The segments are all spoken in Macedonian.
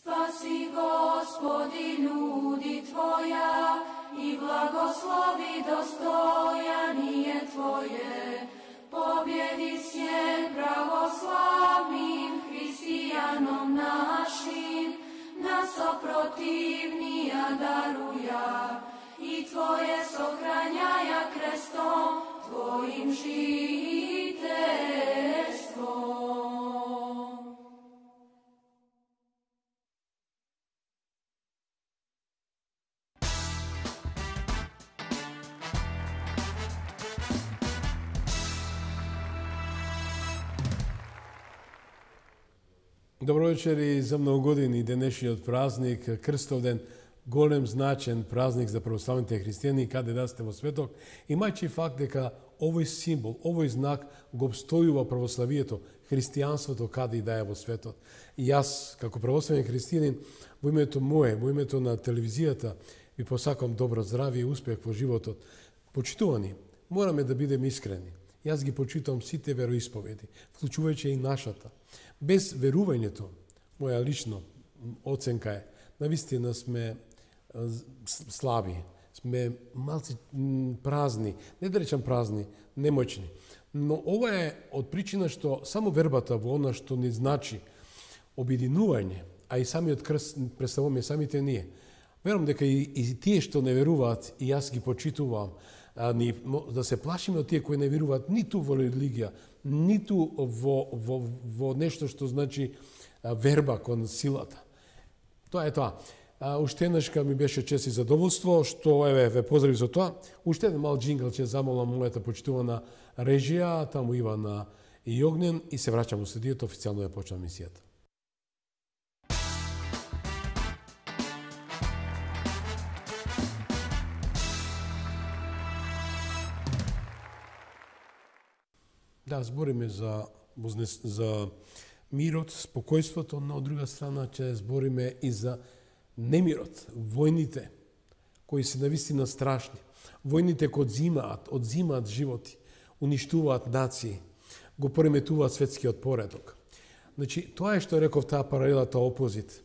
Spasi Gospodi ljudi Tvoja i blagoslovi dostojanije Tvoje. Pobjedi svijet pravoslavnim hristijanom našim, nas oprotivnija daruja i Tvoje sohranjaja krestom Tvojim žiteljstvom. Добро вечер и за многу години денешниот празник, Крстовден, голем значен празник за православните христијани каде да сте во светот, имајќи факт дека овој символ, овој знак го обстојува православието, христијанството каде и да е во светот. И јас, како православен христијанин, во името мое, во името на телевизијата, ви посакам добро здравје и успех во животот. Почитувани, мораме да бидеме искрени. Јас ги почитувам сите вероисповеди, вклучувајќи и нашата. Без верувањето, моја лично оценка е, навистина сме слаби, сме малци празни, не да речам празни, немоćни. Но ова е од причина што само вербата во она што ни значи обединување, а и самиот крст представуваме самите ние. Верувам дека и тие што не веруваат, и јас ги почитувам, да се плашиме од тие кои не веруваат ниту во религија, ниту во нешто што значи верба кон силата. Тоа е тоа. Уште еднашка ми беше чест и задоволство, што ве поздрави за тоа. Уште еден мал джингл ќе замолам мојата почитувана режија, таму Ивана и Јогнен, и се враќам во студиото, официјално ја почнам мисијата. Да, збориме за мирот, спокојството, но од друга страна ќе збориме и за немирот, војните кои се навистина страшни, војните кои одзимаат животи, уништуваат нации, го пореметуваат светскиот поредок. Значи, тоа е што реков таа паралелата опозит.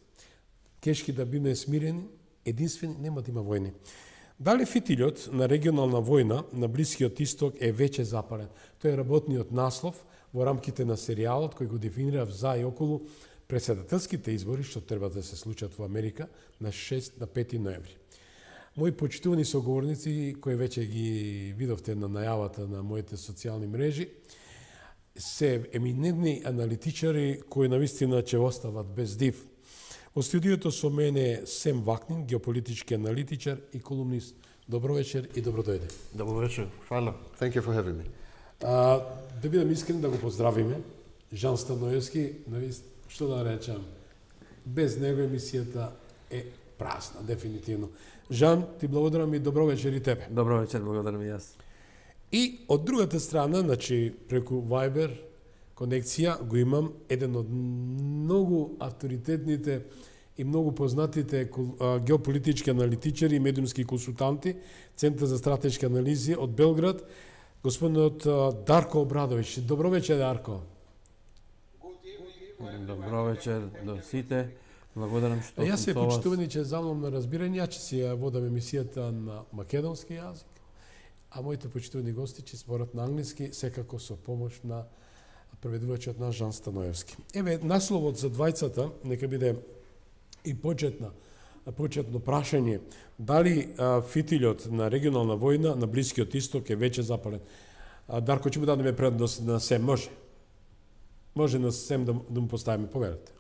Кешки да биме смирени, единствени, нема да има војни. Дали фитилјот на регионална војна на Блискиот Исток е веќе запален? Тој е работниот наслов во рамките на серијалот кој го дефинирав за и околу председателските избори што треба да се случат во Америка на 5 ноември. Мои почитувани соговорници, кои веќе ги видовте на најавата на моите социјални мрежи, се еминентни аналитичари кои навистина ќе остават без див. Во студиото со мене Сем Вакнин, геополитички аналитичар и колумнист. Добро вечер и добро дојде. Добро вечер. Фала. Thank you for having me. Да бидам искрен да го поздравиме. Жан Станоевски, што да речам, без него емисијата е празна, дефинитивно. Жан, ти благодарам и добро вечер и тебе. Добро вечер, благодарам и јас. И од другата страна, значи преку Viber конекција го имам еден од многу авторитетните и многу познатите геополитички аналитичари и медиумски консултанти, Центар за стратешки анализи од Белград, господинот Дарко Обрадовиќ. Добро вечер, Дарко. Добро вечер до сите. Благодарам што Јас се сум со вас. почитувани че замолам на разбирање, ќе си ја водам емисијата на македонски јазик, а моите почитувани гости ќе зборат на англиски, секако со помош на преведувачот на Жан Станоевски. Еве, насловот за двајцата нека биде и почетно прашање дали фитилјот на регионална војна на Блискиот Исток е веќе запален. Дарко, ќе му дадеме предност на Сем, може? Може на Сем да му поставиме, поверете.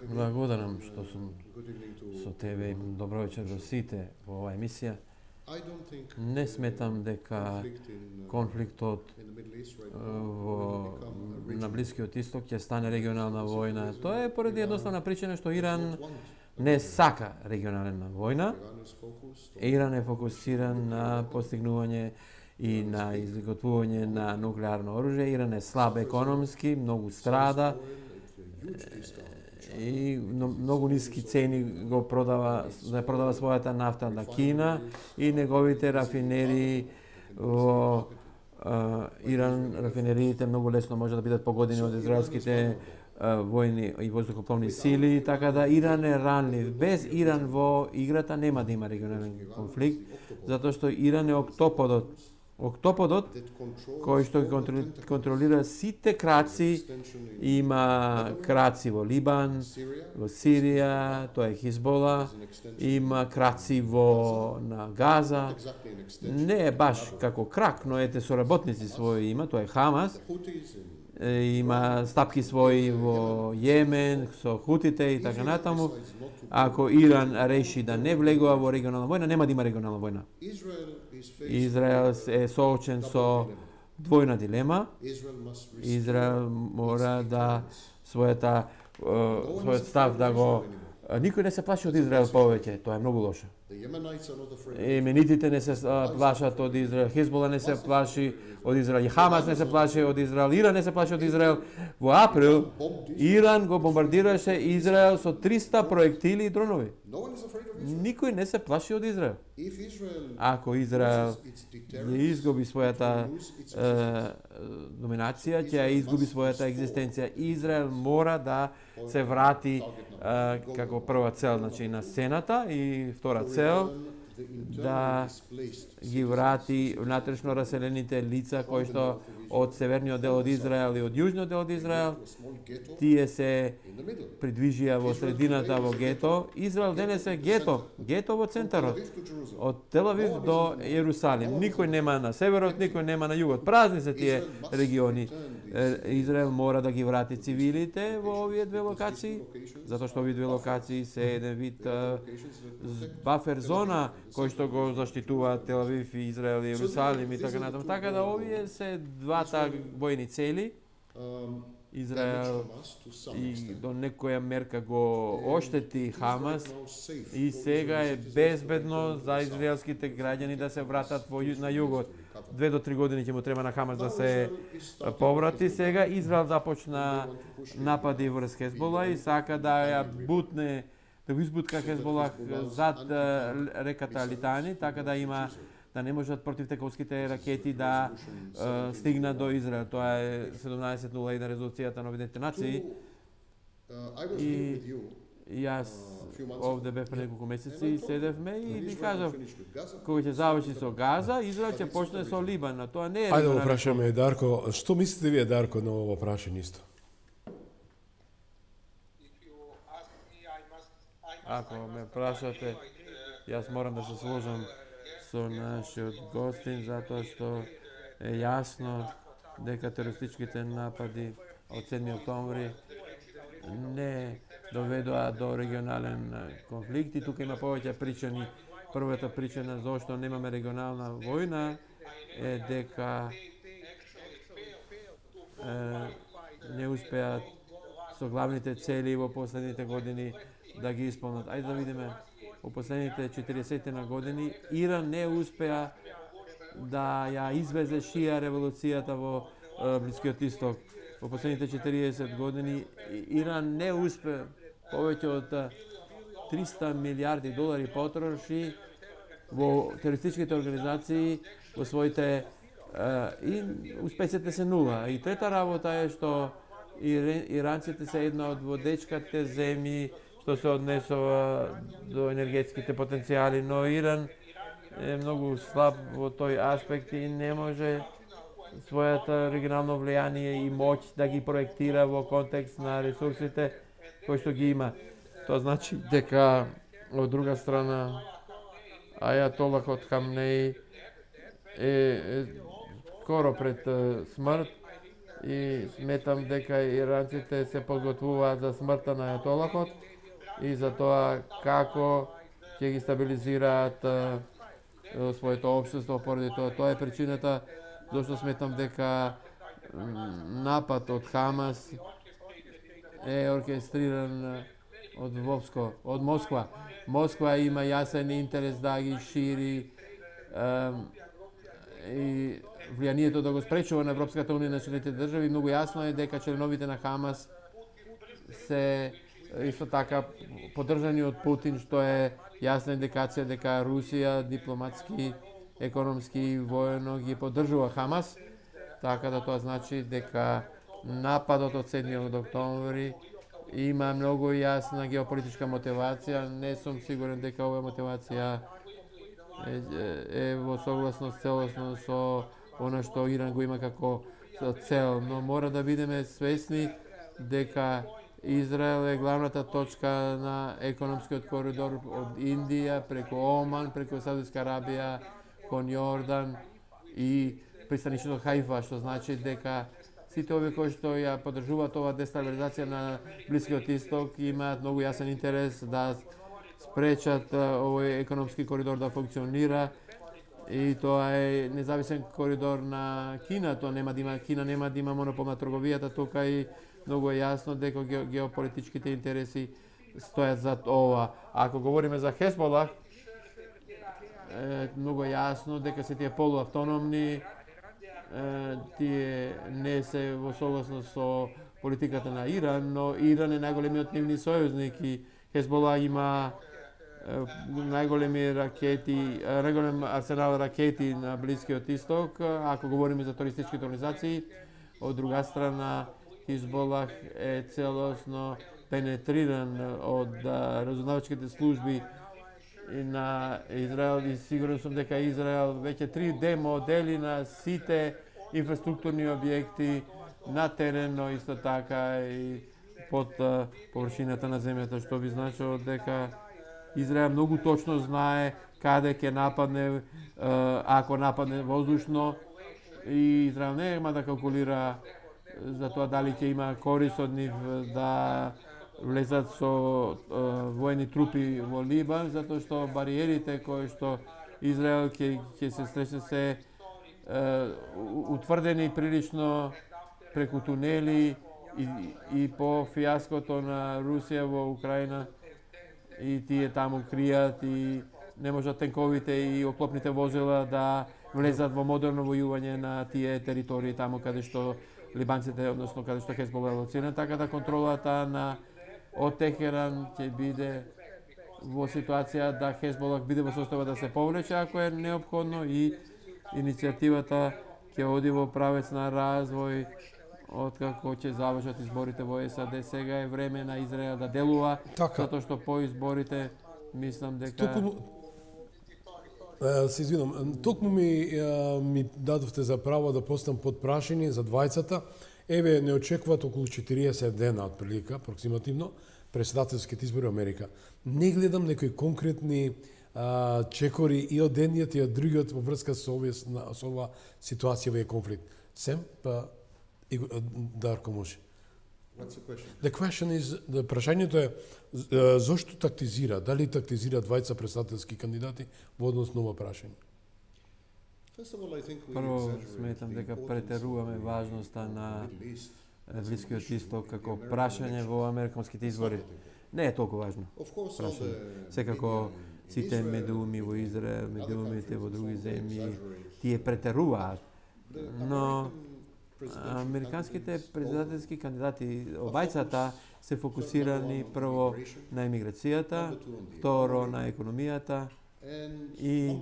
Благодарам што сум со тебе и добро вечер до сите во оваа емисија. Не сметам дека конфликтот на Блискиот Исток ќе стане регионална војна. Тоа е поради едноставна причина што Иран не сака регионална војна. Иран е фокусиран на постигнување и на изготвување на нуклеарно оружје. Иран е слаб економски, многу страда и многу ниски цени го продава својата нафта на Кина и неговите рафинерии во Иран, рафинериите многу лесно може да бидат погодени од израелските војни и воздухопловни сили, така да Иран е ранлив. Без Иран во играта нема да има регионален конфликт, затоа што Иран е октоподот кој што контролира сите краци. Има краци во Либан, во Сирија, тоа е Хизбола, има краци на Газа. Не е баш како крак, но ете соработници своји има, тоа е Хамас. Има стапки своји во Јемен, со хутите и така натаму. Ако Иран реши да не влегува во регионална војна, нема да има регионална војна. Израел е соочен со двојна дилема. Израел мора да својот став да го... Никој не се плаши од Израел повеќе, тоа е многу лошо. Еменитите не се плашат од Израел, Хизбола не се плаши од Израел, Хамас не се плаши од Израел, Иран не се плаши од Израел. Во април Иран го бомбардираше Израел со 300 проектили и дронови. Никој не се плаши од Израел. Ако Израел не изгуби својата доминација, ќе изгуби својата екзистенција. Израел мора да се врати како прва цел, значи на сцената, и втора цел да ги врати внатрешно раселените лица кои што од северниот дел од Израел и од јужниот дел од Израел, тие се придвижија во средината во гето. Израел денес е гето во центарот, од Тел Авив до Јерусалим. Никој нема на северот, никој нема на југот. Празни се тие региони. Израел мора да ги врати цивилите во овие две локации, затоа што овие две локации се еден вид бафер зона кој што го заштитува Тел Авив и Израел и Јерусалим и така натаму. Така да овие се двата војни цели. Израел и до некоја мерка го оштети Хамас и сега е безбедно за израелските граѓани да се вратат на југот. 2 до 3 години ќе му треба на Хамас да се поврати. Сега Израел започна напади врз Хезбола и сака да ја бутне, да го избутка Хезбола зад реката Литани, така да има да не можат противтековските ракети да стигнат до Израел. Тоа е 1701 резолуцијата на Обединетите нации. И јас овде бев пред неколку месеци и седевме и ви кажав, кога ќе заврши со Газа, Израел ќе почне со Либан. Тоа не е... Ајде да прашаме Дарко, што мислите вие, Дарко, на ово прашање исто? Ако ме прашате, јас морам да се сложам со нашиот гостин, затоа што е јасно дека терористичките напади од 7 октомври не доведоа до регионален конфликт и тука има повеќе причини. Првата причина зошто немаме регионална војна е дека не успеат со главните цели во последните години да ги исполнат. Ајде да видиме, во последните 40 на години Иран не успеа да ја извезе шија револуцијата во Блискиот Исток. Во последните 40 години Иран не успе, повеќе од 300 милиарди долари потроши во терористичките организации во своите и успесите се нула. И трета работа е што иранците се една од водечките земји што се однесува до енергетските потенцијали, но Иран е многу слаб во тој аспект и не може својата регионално влијание и моќ да ги проектира во контекст на ресурсите кои што ги има. Тоа значи дека од друга страна Ајатолахот Хамнеи е скоро пред смрт и сметам дека иранците се подготвуваат за смртта на Ајатолахот и за тоа како ќе ги стабилизираат своето општество поради тоа. Тоа е причината зашто сметам дека напад од Хамас е оркестриран од Москва. Москва има јасен интерес да ги шири и влијанието да го спречува на Европската унија и националните држави. Многу јасно е дека членовите на Хамас се исто така поддржани од Путин, што е јасна индикација дека Русија дипломатски, економски и воено ги поддржува Хамас, така да тоа значи дека нападот од 7 октомври има многу јасна геополитичка мотивација. Не сум сигурен дека оваа мотивација е во согласност целосно со она што Иран го има како цел, но мора да бидеме свесни дека Израел е главната точка на економскиот коридор од Индија преку Оман, преку Саудиска Арабија, кон Јордан и пристанишното Хајфа, што значи дека сите овие кои што ја поддржуваат оваа дестабилизација на Блискиот Исток имаат многу јасен интерес да спречат овој економски коридор да функционира, и тоа е независен коридор на Кина. Тоа нема да има, Кина нема да има монопол на трговијата тука, и многу е јасно дека геополитичките интереси стојат зад ова. Ако говориме за Хезболах, многу е јасно дека се тие полуавтономни, тие не се во согласност со политиката на Иран, но Иран е најголемиот нивни сојузник и Хезбола има најголем арсенал ракети на Блискиот Исток, ако говориме за терористички организации. Од друга страна, Хезболах е целосно пенетриран од разузнавачките служби на Израел, и сигурен сум дека Израел веќе 3D модели на сите инфраструктурни објекти на терен, но исто така и под површината на земјата, што би значило дека Израел многу точно знае каде ќе нападне, ако нападне воздушно, и Израел нема да калкулира за тоа дали ќе има корист од нив да влезат со воени трупи во Либан, затоа што бариерите кои што Израел ќе се сресне се утврдени прилично преку тунели, и по фијаското на Русија во Украина, и тие таму кријат и не можат тенковите и оклопните возила да влезат во модерно војување на тие територии таму каде што либанците, односно каде што Хезбола е лоциран, така да контролата на од Техеран ќе биде во ситуација да Хезбола биде во состојба да се повлече ако е неопходно, и иницијативата ќе оди во правец на развој откако ќе завршат изборите во САД. Сега е време на Израел да делува, затоа што по изборите мислам дека се извинам, токму ми дадовте за право да постам под прашање за двајцата. Еве, не очекуваат околу 40 дена отприлика, апроксимативно, председателските избори во Америка. Не гледам некои конкретни чекори и од едниот и од другиот во врска со оваа ситуација, овој конфликт. Сем, па Дарко може. What's the question? The question is, прашањето е зошто тактизира, дали тактизира двајца председателски кандидати во однос на ова прашање? Прво сметам дека претеруваме важноста на Блискиот Исток како прашање во американските избори. Не е толку важно прашање. Секако сите медиуми во Израел, медиумите во други земји, тие претеруваат. Но американските председателски кандидати, обајцата, се фокусирани прво на емиграцијата, второ на економијата и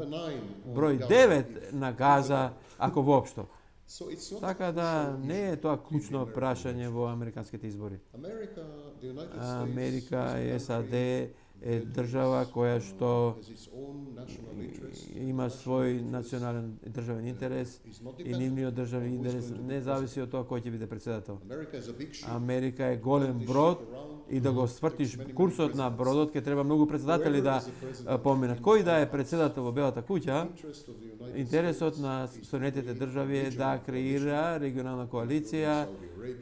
број 9 на Газа, ако воопшто. Така да не е тоа клучно прашање во американските избори. Америка и САД е држава која што има свој национален државен интерес, и нивниот државен интерес не зависи од тоа кој ќе биде председател. Америка е голем брод, и да го свртиш курсот на бродот ќе треба многу председатели да поминат. Кој да е председател во Белата куќа, интересот на Соединетите држави е да креира регионална коалиција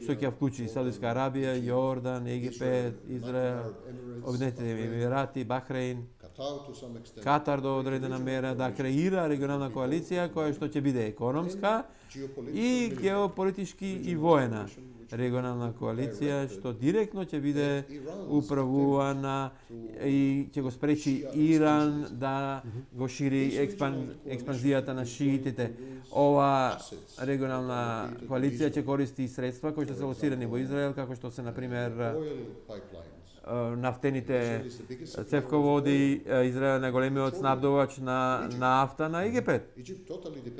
што ќе вклучи Саудиска Арабија, Јордан, Египет, Израел, Обединетите Емирати, Бахрейн, Катар до одредена мера, да креира регионална коалиција која што ќе биде економска и геополитички и воена регионална коалиција што директно ќе биде управувана и ќе го спречи Иран да го шири експанзијата на шиитите. Ова регионална коалиција ќе користи средства кои што се лоцирани во Израел, како што се, например, нафтените цевководи. Израел е најголемиот снабдувач на нафта на Египет.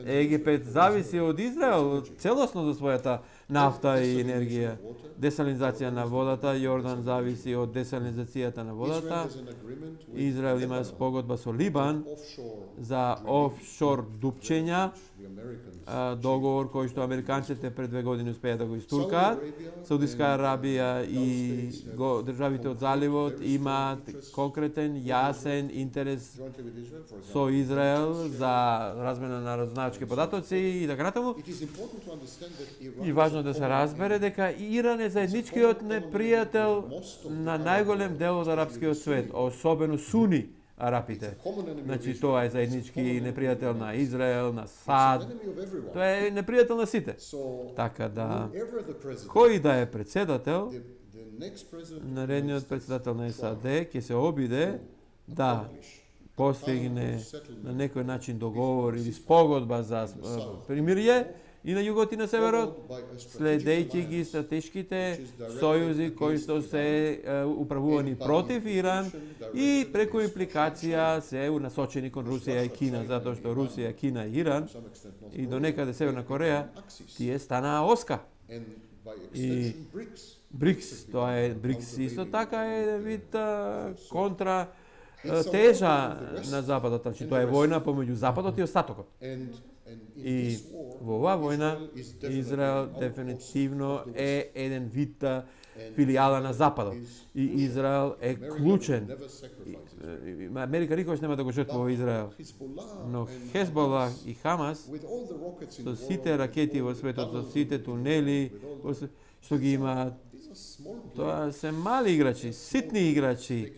Египет зависи од Израел целосно за својата нафта и енергија. Десалинизација на водата, Јордан зависи од десалинизацијата на водата. Израел има спогодба со Либан за офшор дупчења, договор кој што американците пред 2 години успеа да го истуркаат. Саудиска Арабија и државите од заливот имаат конкретен, јасен интерес со Израел за размена на разузнавачки податоци и така натаму. И важно да се разбере дека Иран е заедничкиот непријател на најголем дел од арапскиот свет, особено суни арапите. Значи тоа е заеднички непријател на Израел, на САД. Тоа е непријател на сите. Така да кој да е председател, наредниот председател на САД ќе се обиде да постигне на некој начин договор или спогодба за примирие и на југот и на северот, следејќи ги стратешките сојузи кои што се управувани против Иран и преку импликација се насочени кон Русија и Кина, затоа што Русија, Кина и Иран и до некаде Северна Кореја тие станаа оска. И БРИКС, тоа е БРИКС исто така е вид контра тежа на Западот, значи тоа е војна помеѓу Западот и остатокот. И во оваа војна Израел дефинитивно е еден вид филијала на Западот. И Израел е клучен. Америка никогаш нема да го жртвува Израел. Но Хезбола и Хамас со сите ракети во светот, со сите тунели што ги имаат, тоа се мали играчи, ситни играчи.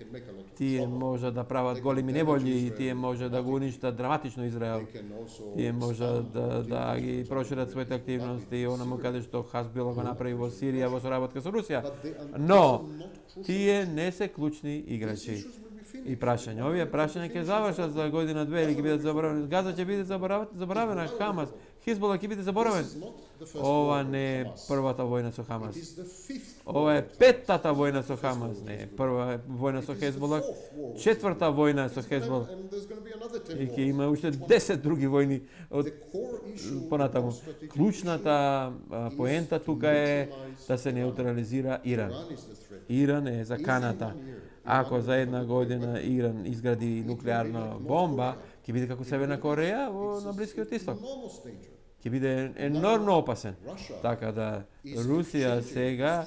Тие може да прават големи неволји, тие може да го уништат драматично Израел. Тие може да ги прошират своите активности, онаму каде што Хазбола го направи во Сирија во соработка со Русија. Но тие не се клучни играчи. И прашање, овие прашања ќе завршат за година две или ќе бидат заборавени. Газа ќе биде заборавена, Хамас, Хизбола ќе биде заборавен. Ова не е првата војна со Хамас. Ова е петтата војна со Хамас, не е прва војна со Хезбола, четврта војна со Хезбола. И ќе има уште 10 други војни од понатаму. Клучната поента тука е да се неутрализира Иран. Иран е заканата. Ако за една година Иран изгради нуклеарна бомба, ќе биде како Северна Кореја на Блискиот Исток. Ќе биде енормно опасен. Така да Русија сега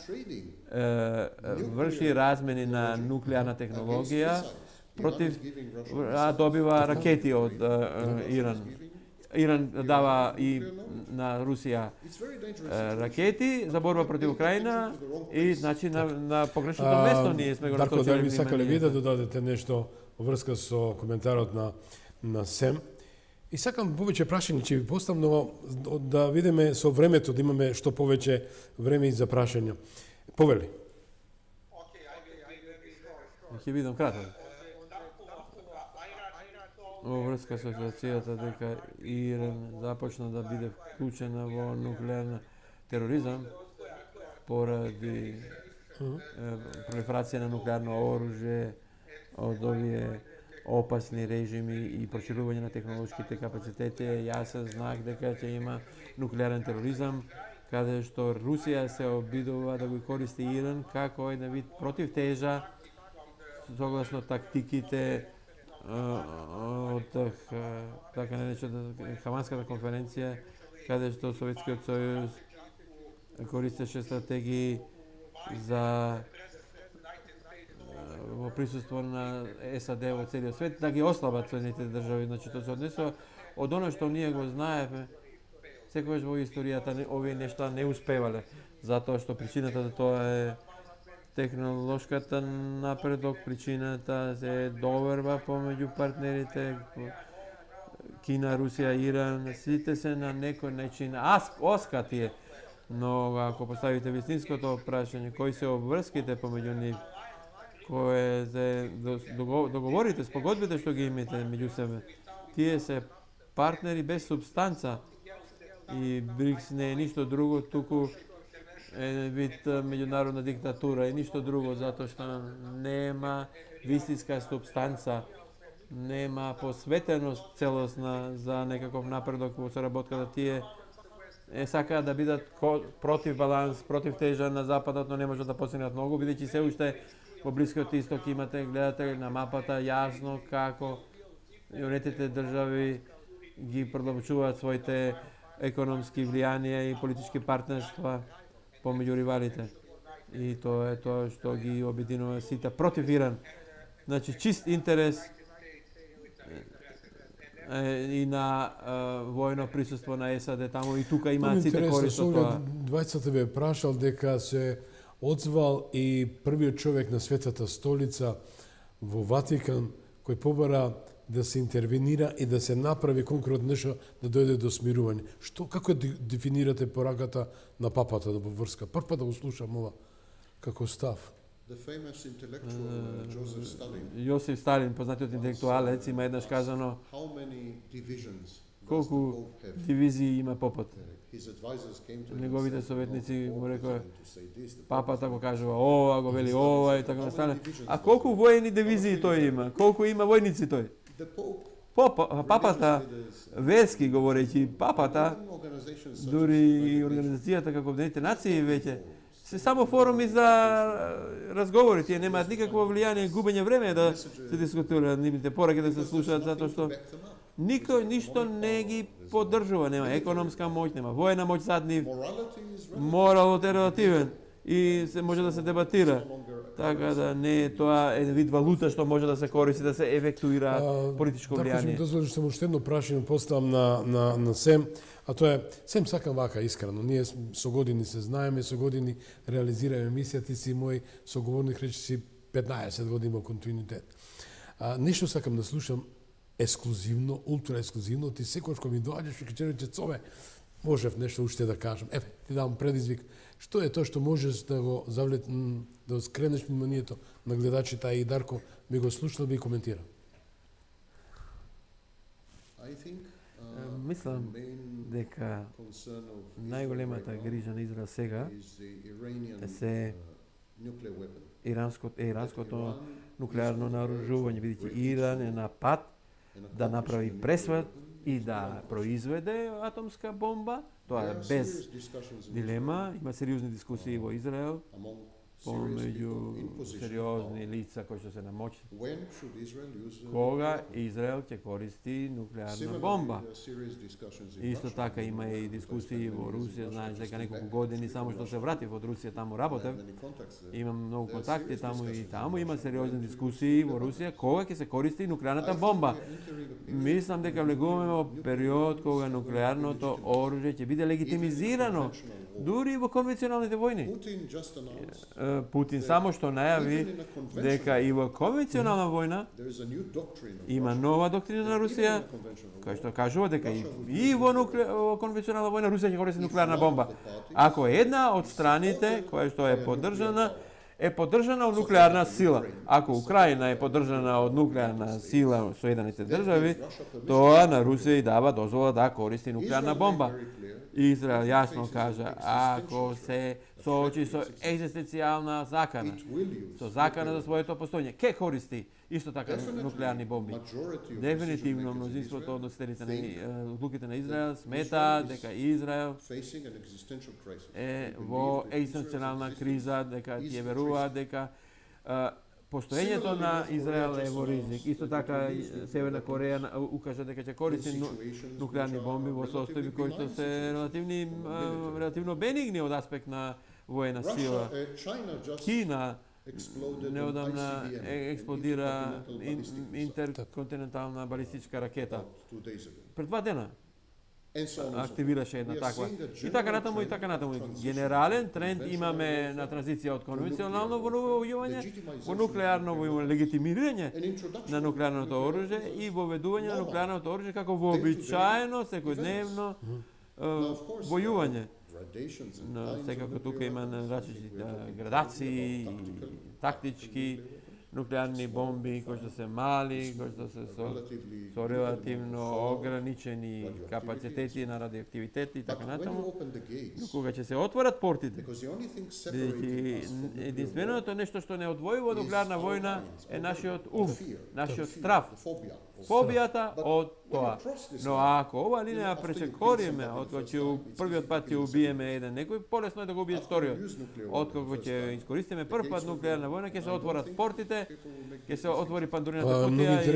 врши размени на нуклеарна технологија против, добива ракети од Иран. Иран дава и на Русија ракети за борба против Украина и значи на погрешното место ние сме го насочили. Дарко, да ви сакале ви да додадете нешто во врска со коментарот на Сем. И сакам повеќе прашања ќе ви поставам, но да видиме со времето да имаме што повеќе време и за прашања. Повели. Ќе видам кратко. Во врска со ситуацијата дека Иран започна да биде вклучена во нуклеарна тероризам поради пролиферација на нуклеарно оружје од овие опасни режими и проширување на технолошките капацитети е јасен знак дека ќе има нуклеарен тероризам, каде што Русија се обидува да го користи Иран како еден вид противтежа согласно тактиките од така наречената Хаманската конференција, каде што Советскиот сојуз користеше стратегии за во присуство на САД во целиот свет да ги ослабат Соединетите држави. Значи тоа се однесува од оно што ние го знаеме, секогаш во историјата овие нешта не успевале, затоа што причината за тоа е технолошката напредок, причината е доверба помеѓу партнерите Кина, Русија, Иран, сите се на некој начин оска тие. Но ако поставите вистинското прашање, кои се обврските помеѓу нив, кои се договорите, спогодбите што ги имате меѓу себе, тие се партнери без субстанца и БРИКС не е ништо друго, туку еден вид меѓународна диктатура и ништо друго, затоа што нема вистинска субстанца, нема посветеност целосна за некаков напредок во соработката. Тие сакаат да бидат против баланс, против тежа на западот, но не можат да постигнат многу, бидејќи се уште во Блискиот Исток имате, гледате на мапата јасно како јунетите држави ги продолжуваат своите економски влијанија и политички партнерства помеѓу ривалите. И тоа е тоа што ги обединува сите против Иран. Значи чист интерес и на војно присуство на САД таму и тука имаат сите корист од тоа. Двајцата ве прашал дека се одзвал и првиот човек на Светата столица во Ватикан кој побара да се интервенира и да се направи конкретно нешто да дојде до смирување. Како дефинирате пораката на папата во врска? Прв пат да го слушам ова како став. Јосиф Сталин, познатиот интелектуалец, има еднаш казано колку дивизии има попот. Неговите советници му рекоа, папата го кажува ова, го вели ова и така настане. А колку воени дивизии тој има? Колку има војници тој? Папата, верски говорејќи, папата, дури и организацијата како Обединетите нации веќе, се само форуми за разговори, тие немаат никакво влијание, губење време да се дискутираат, нивните пораки да се слушаат, затоа што никој ништо не ги поддржува, нема економска моќ, нема војна моќ зад нив, моралот е релативен и се може да се дебатира. Така да не е тоа еден вид валута што може да се користи да се ефектуира политичко влијание. Така ќе ми дозволиш само уште едно прашање поставам на Сем, а тоа е Сем сакам вака искрено. Ние со години се знаеме, со години реализираме мисија, ти си мој соговорник, речи си 15 години во континуитет. Нешто сакам да слушам ексклузивно, ултра ексклузивно, ти секогаш кога ми доаѓаш и ќе рече Цове, можев нешто уште да кажам. Еве, ти давам предизвик. Што е тоа што можеш да го да скренеш вниманието на гледачите, и Дарко би го слушал, би коментира? Мислам дека најголемата грижа на Израел сега се иранското нуклеарно наоружување, бидејќи Иран е на пат да направи пресвет и да произведе атомска бомба. Тоа е без дилема. Има сериозни дискусии во Израел помеѓу сериозни лица кои што се намочи. Кога Израел ќе користи нуклеарна бомба? Исто така има и дискусии во Русија, знаеш дека неколку години само што се вратив од Русија, таму работев. Имам многу контакти таму и таму има сериозни дискусии во Русија кога ќе се користи нуклеарната бомба. Мислам дека влегуваме во период кога нуклеарното оружје ќе биде легитимизирано дури во конвенционалните војни. Путин само што најави дека и во конвенционална војна има нова доктрина на Русија, која што кажува дека и во конвенционална војна Русија ќе користи нуклеарна бомба. Ако една од страните која што е поддржана од нуклеарна сила. Ако Украина е поддржана од нуклеарна сила Соединените држави, тоа на Русија и дава дозвола да користи нуклеарна бомба. Израел јасно кажа, ако се соочи со екзистенцијална закана, со закана за своето постојање, ке користи исто така нуклеарни бомби. Дефинитивно мнозинството од носителите на одлуките на Израел смета дека Израел е во екзистенцијална криза, дека тие веруваат дека постоењето на Израел е во ризик. Исто така Северна Кореја укажа дека ќе користи нуклеарни бомби во состојби кои што се релативно бенигни од аспект на воена сила. Кина неодамна експлодира интерконтинентална балистичка ракета. Пред 2 дена активираше една таква. И така натаму. Генерален тренд имаме на транзиција од конвенционално војување во нуклеарно војување, легитимирање на нуклеарното оружје и воведување на нуклеарното оружје како вообичаено секојдневно војување. Но секако тука има различни градации, тактички, нуклеарни бомби кои што се мали, кои што се со релативно ограничени капацитети на радиоактивитет и така натаму. Но кога ќе се отворат портите, единственото нешто што не одвојува од нуклеарна војна е нашиот ум, нашиот страв. побијата од тоа. Но ако ова линија пречекориме, откако ќе првиот пат ќе убиеме еден некој, полесно е да го убиеш вториот. Откако ќе искористиме прв пат нуклеарна војна, ќе се отворат портите, ќе се отвори пандурината кутија и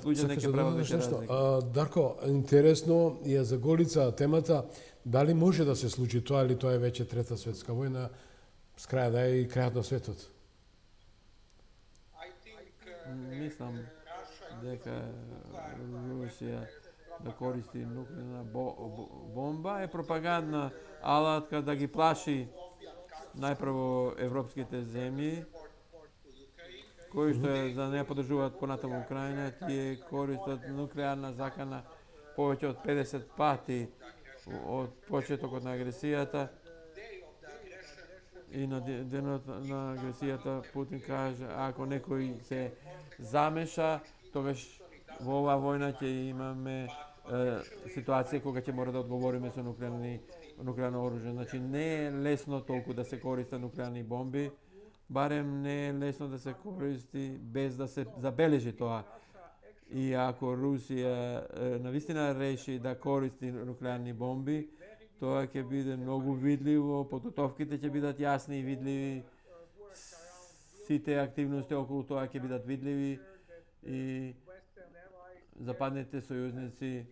луѓе не ќе прават веќе разлика. Дарко, интересно е за Голица темата, дали може да се случи тоа или тоа е веќе трета светска војна, с крај да е и крајот на светот? Мислам дека Русија да користи нуклеарна бомба е пропагандна алатка да ги плаши најпрво европските земји кои што да не поддржуваат понатаму Украина, тие користат нуклеарна закана повеќе од 50 пати од почетокот на агресијата. И на денот на агресијата Путин каже, ако некој се замеша, тогаш во оваа војна ќе имаме ситуација кога ќе мора да одговориме со нуклеарно оружје. Значи не е лесно толку да се користат нуклеарни бомби, барем не е лесно да се користи без да се забележи тоа. И ако Русија навистина реши да користи нуклеарни бомби, тоа ќе биде многу видливо, подготовките ќе бидат јасни и видливи, сите активности околу тоа ќе бидат видливи и западните сојузници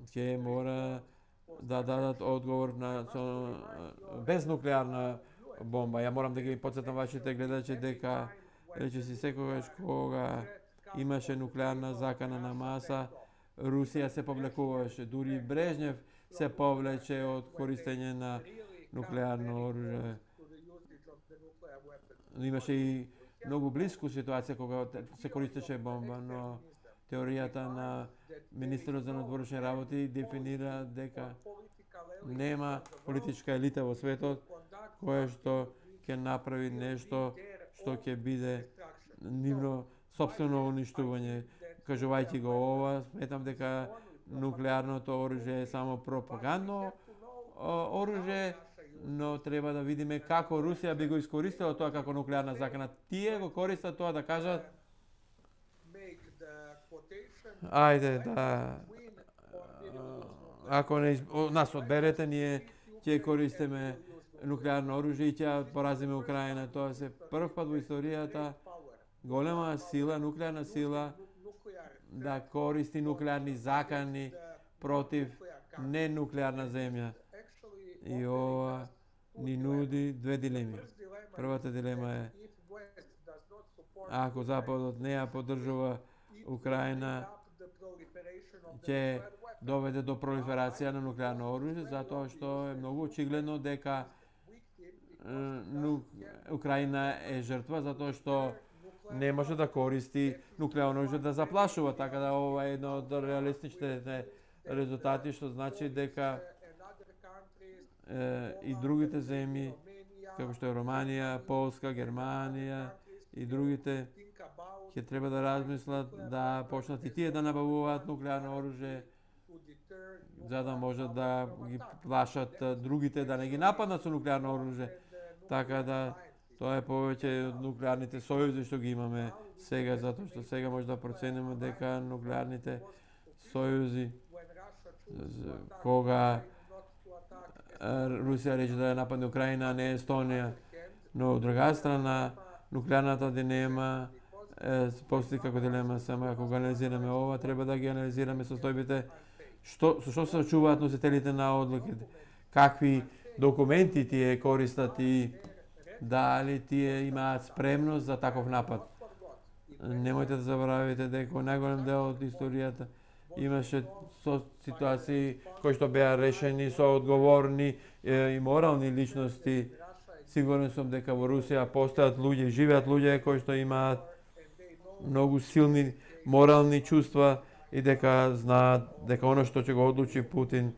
ќе мора да дадат одговор на без нуклеарна бомба. Ја морам да ги потсетам вашите гледачи дека речиси секогаш кога имаше нуклеарна закана на маса, Русија се повлекуваше, дури Брежнев се повлече од користење на нуклеарно оружје. Имаше и многу близко ситуација кога се користеше бомба, но теоријата на министерот за надворешни работи дефинира дека нема политичка елита во светот која што ќе направи нешто што ќе биде нивно сопствено уништување. Кажувајќи го ова, сметам дека нуклеарното оружје е само пропагандно оружје, но треба да видиме како Русија би го искористила тоа како нуклеарна закана. Тие го користат тоа да кажат ајде да ако не нас одберете, ние ќе користиме нуклеарно оружје и ќе поразиме Украина. Тоа се прв пат во историјата голема сила, нуклеарна сила да користи нуклеарни закани против ненуклеарна земја. И ова ни нуди две дилеми. Првата дилема е ако Западот не ја поддржува Украина, ќе доведе до пролиферација на нуклеарно оружје, затоа што е многу очигледно дека Украина е жртва, затоа што не може да користи нуклеарно оружје да заплашува, така да ова е едно од реалистичните резултати, што значи дека и другите земји, како што е Романија, Полска, Германија и другите, ќе треба да размислат да почнат и тие да набавуваат нуклеарно оружје, за да можат да ги плашат другите да не ги нападнат со нуклеарно оружје. Така да тоа е повеќе од нуклеарните сојузи што ги имаме сега, затоа што сега може да процениме дека нуклеарните сојузи кога Русија рече да ја нападне Украина, а не Естонија, но од друга страна нуклеарната дилема постои како дилема, само ако го анализираме ова, треба да ги анализираме состојбите со што се очуваат носителите на одлуките, какви документи тие користат и дали тие имаат спремност за таков напад. Немојте да заборавите дека најголем дел од историјата имаше ситуации кои што беа решени со одговорни и морални личности. Сигурен сум дека во Русија постојат луѓе, живеат луѓе кои што имаат многу силни морални чувства и дека знаат дека оно што ќе го одлучи Путин,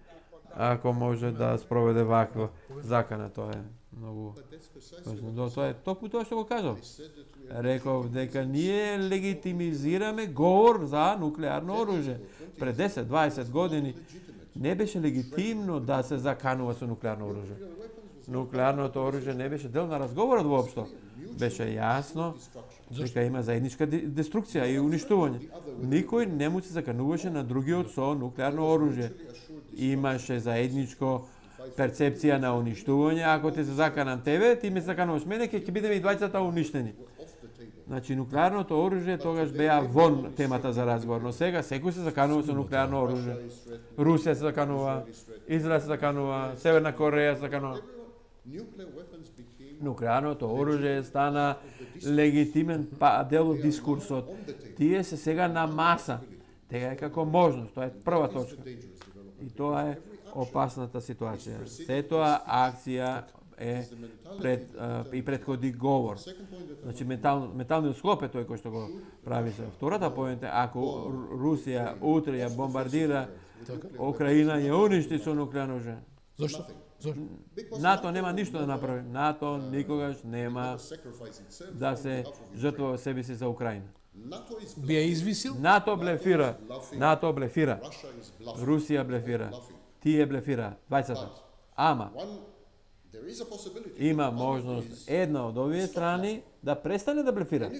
ако може да спроведе ваква закана, тоа е многу важно. Тоа е токму тоа што го кажав. Реков дека ние легитимизираме говор за нуклеарно оружје. Пред 10-20 години не беше легитимно да се заканува со нуклеарно оружје. Нуклеарното оружје не беше дел на разговорот воопшто. беше јасно дека има заедничка деструкција и уништување. Никој не му се закануваше на другиот со нуклеарно оружје. Имаше заедничко перцепција на уништување. Ако те се заканам тебе, ти ме закануваш мене, ќе бидеме и двајцата уништени. Значи, нуклеарното оружје тогаш беа вон темата за разговор, но сега секој се заканува со нуклеарно оружје. Русија се заканува, Израел се заканува, Северна Кореја се заканува. Нуклеарното оружје стана легитимен дел од дискурсот. Тие се сега на маса. Тега е како можност, тоа е прва точка. И тоа е опасната ситуација. Сетоа акција е предходи говор. Значи менталниот склоп е тој кој што го прави се. Втората поента, ако Русија утре ја бомбардира Украина, ја уништи со нуклеарно оружје. Зошто? НАТО нема ништо да направи. НАТО никогаш нема да се жртвува себе си за Украина. Би ја извисил? НАТО блефира. НАТО блефира. Русија блефира. Тие блефира. Двајцата. Ама има можност една од овие страни да престане да блефира.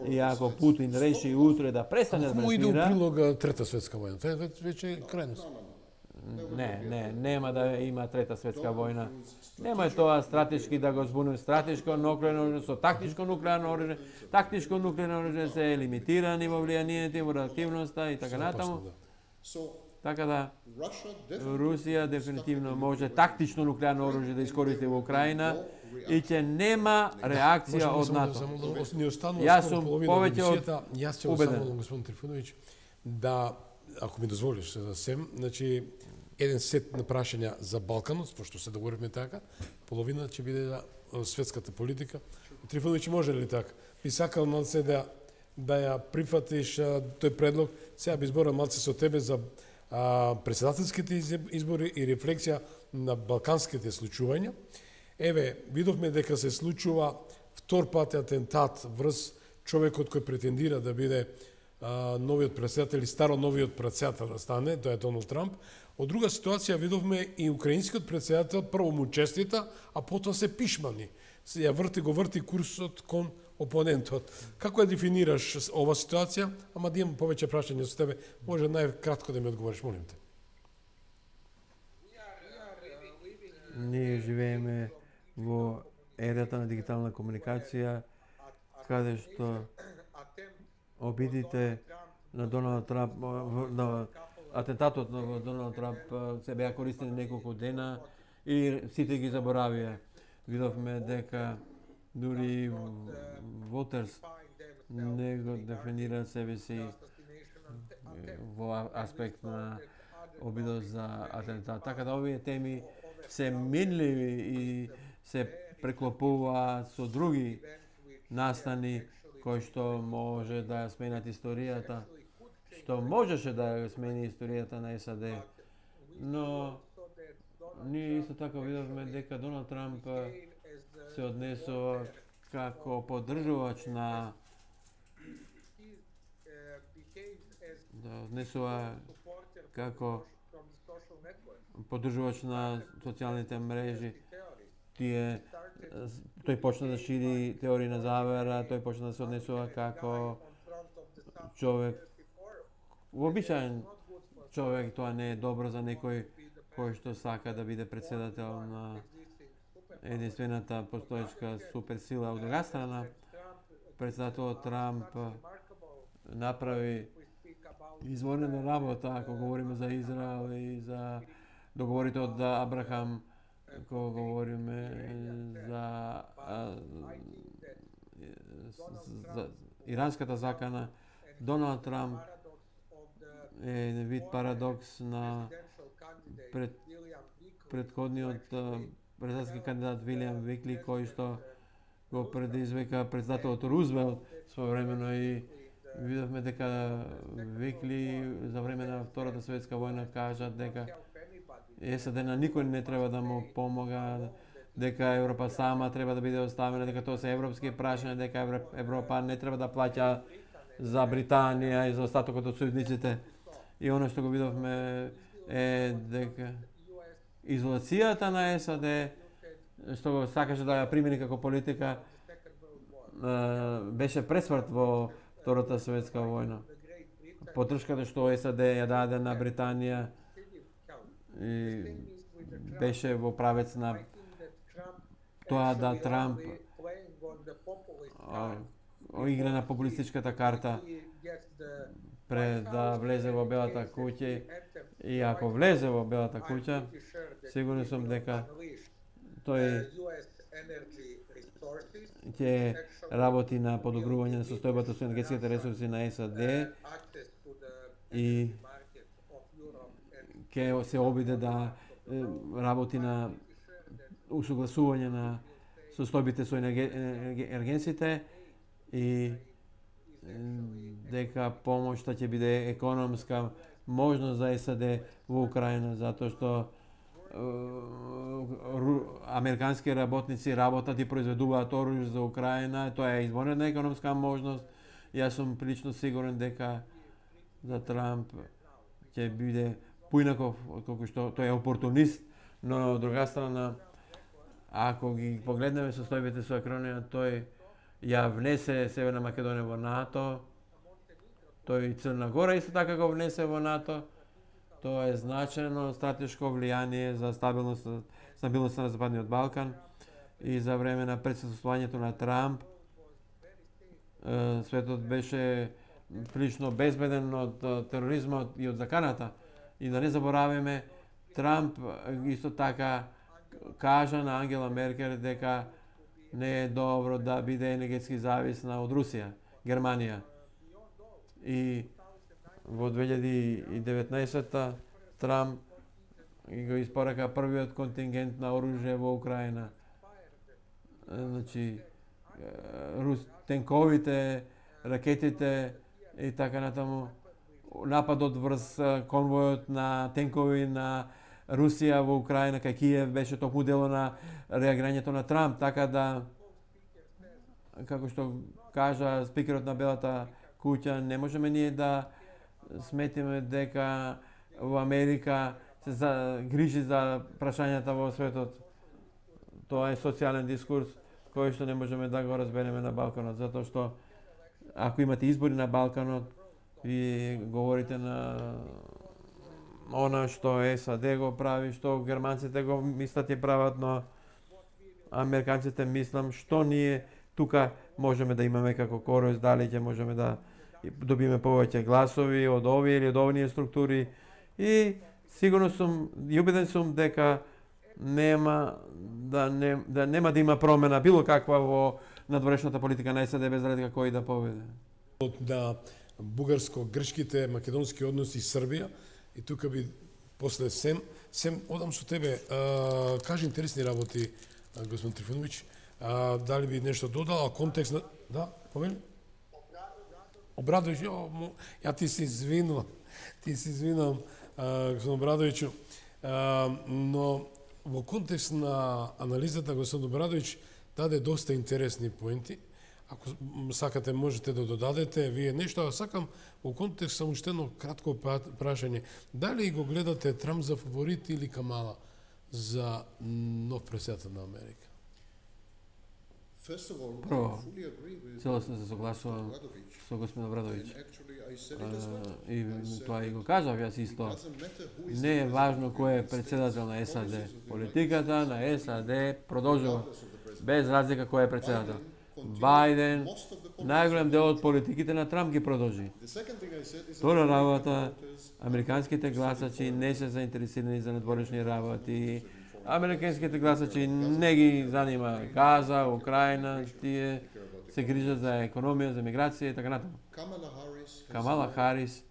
И ако Путин реши утре да престане да блефира... Му иде у прилог Трета светска војна. Тоа веќе е крајност. Нема да има Трета светска војна. Нема тоа стратешки да го збунем стратешко нуклеарно оружје со тактичко нуклеарно оружје. Тактичко нуклеарно оружје се лимитирани во влијанието и во реактивноста и така натаму. Така да, Русија дефинитивно може тактично нуклеарно оружје да искористи во Украина и ќе нема реакција од НАТО. Јас сум повеќе од убеден. Господин Трифуновиќ, да, ако ми дозволиш сем, значи, еден сет на прашања за Балканот, пошто се договоривме така, половина ќе биде за светската политика. Трифуновиќ, може ли така? Би сакал малце да ја прифатиш тој предлог. Сега би зборам малце со тебе за председателските избори и рефлексија на балканските случувања. Еве, видовме дека се случува втор пат атентат врз човекот кој претендира да биде новиот председател и старо новиот председател да стане, тоа е Доналд Трамп. Од друга ситуација видовме и украинскиот председател прво му честита, а потоа се пишмани. Се ја врти курсот кон опонентот. Како ја дефинираш ова ситуација? Ама да имам повеќе прашања со тебе. Може најкратко да ми одговориш, молим те. Ние живееме во ерата на дигитална комуникација, каде што обидите на Доналд Трамп, на атентатот на Доналд Трамп се беа користени неколку дена и сите ги заборавија. Видовме дека дури Вотерс не го дефинира себе си во аспект на обидот за атентат. Така да овие теми се минливи и се преклопуваат со други настани кои што може да сменат историјата, што можеше да ја смени историјата на САД. Но ние исто така видовме дека Доналд Трамп се однесува како поддржувач на социјалните мрежи. Тој почна да шири теории на завера, тој почна да се однесува како човек, вообичаен човек. Тоа не е добро за некој кој што сака да биде председател на единствената постоечка суперсила. Од друга страна, председателот Трамп направи изворена работа, ако говориме за Израел и за договорите од Абрахам, кога говориме за иранската закана. Доналд Трамп е вид парадокс на предходниот председателски кандидат Вилијам Викли, кој што го предизвика председателот Рузвелт своевремено, и видовме дека Викли за време на Втората светска војна кажа дека САД на никој не треба да му помога, дека Европа сама треба да биде оставена, дека тоа се европски прашања, дека Европа не треба да плаќа за Британија и за остатокот од сојузниците. И оно што го видовме е дека изолацијата на САД, што го сакаше да ја примени како политика, беше пресмрт во Втората светска војна. Подршката што САД ја даде на Британија и беше во правец на тоа да Трамп игра на популистичката карта пред да влезе во Белата куќа, и ако влезе во Белата куќа, сигурен сум дека тој ќе работи на подобрување на состојбата со енергетските ресурси на САД и ќе се обиде да работи на усогласување на состојбите со енергенците и дека помошта ќе биде економска можност за САД во Украина, затоа што американски работници работат и произведуваат оружје за Украина, тоа е извонредна економска можност. Јас сум прилично сигурен дека за Трамп ќе биде поинаков, отколку што тој е опортунист, но од друга страна, ако ги погледнеме состојбите со Украина, тој ја внесе Северна Македонија во НАТО, тој Црна Гора исто така го внесе во НАТО. Тоа е значено стратешко влијание за стабилноста на Западниот Балкан и за време на присуствувањето на Трамп светот беше прилично безбеден од тероризмот и од заканата. И да не забораваме, Трамп исто така кажа на Ангела Меркел дека не е добро да биде енергетски зависна од Русија, Германија. И во 2019 Трамп го испорака првиот контингент на оружје во Украина. Значи, тенковите, ракетите и така натаму. Нападот врз конвојот на тенкови на Русија во Украина кај Киев беше токму дело на реагирањето на Трамп, така да, како што кажа спикерот на Белата куќа, не можеме ние да сметиме дека во Америка се грижи за прашањата во светот. Тоа е социјален дискурс кој што не можеме да го разбереме на Балканот, затоа што ако имате избори на Балканот, ви говорите на она што САД го прави, што германците го мислат и прават, но американците мислам што ние тука можеме да имаме како корис, дали ќе можеме да добиме повеќе гласови од овие или од овие структури, и сигурно сум и убеден сум дека нема да има промена било каква во надворешната политика на САД без разлика кој да победи. На бугарско-грчките, македонски односи и Србија, и тука би после сем одам со тебе, кажи интересни работи, господин Трифоновиќ, дали би нешто додал, контекст на... Да, помени? Обрадовиќ, ја ти се извинувам, господин Обрадовиќу, но во контекст на анализата господин Обрадовиќ даде доста интересни поенти. Ако сакате можете да додадете вие нешто, а сакам во контекст само уште едно кратко прашање. Дали го гледате Трамп за фаворит или Камала за нов председател на Америка? Прво, целосно се согласувам со господин Обрадовиќ. И тоа и го кажав јас исто. Не е важно кој е председател на САД. Политиката на САД продолжува без разлика кој е председател. Бајден, најголем дел од политиките на Трамп ги продолжи. Втора работа, американските гласачи не се заинтересирани за надворешни работи. Американските гласачи не ги занима Газа, Украина, тие се грижат за економија, за миграција и така натаму. Камала Харис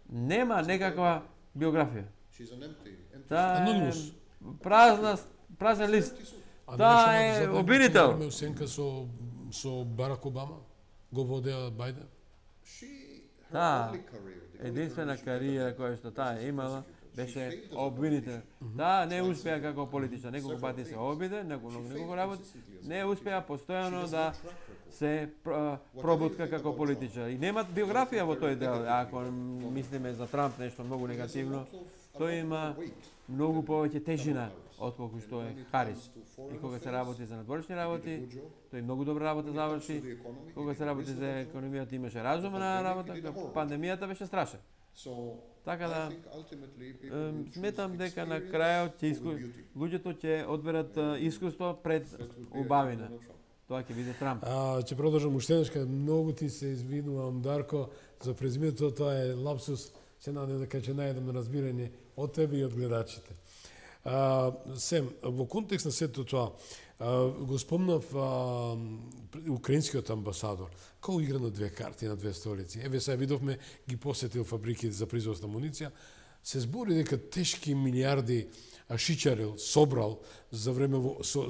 нема некаква биографија. Таа е празен лист. Таа е обвинител. Оценка со Барак Обама го водеа Бајден. Таа единствена кариера која што таа имала беше обвинител. Да, не успеа како политичар, неколку пати се обиде, неколку работи, не успеа постојано да се пробутка како политичар. И немат биографија во тој дел. Ако мислиме за Трамп нешто многу негативно, Тој има многу повеќе тежина отколку што е Харис. И кога се работи за надворешни работи, тој многу добра работа заврши. Кога се работи за економијата имаше разумна работа, пандемијата беше страшна. Така да сметам дека на крајот луѓето ќе одберат искуство пред убавина. Тоа ќе биде Трамп. Ќе продолжам уште еднаш, многу ти се извинувам, Дарко, за презимето, тоа е лапсус, се надевам дека ќе најдам разбирање од тебе и од гледачите. Сем, во контекст на сето тоа, го спомнав украинскиот амбасадор, како игра на две карти, на две столици. Еве сега видовме, ги посетил фабрики за производство на амуниција, се збори дека тешки милиарди шичарил, собрал за време,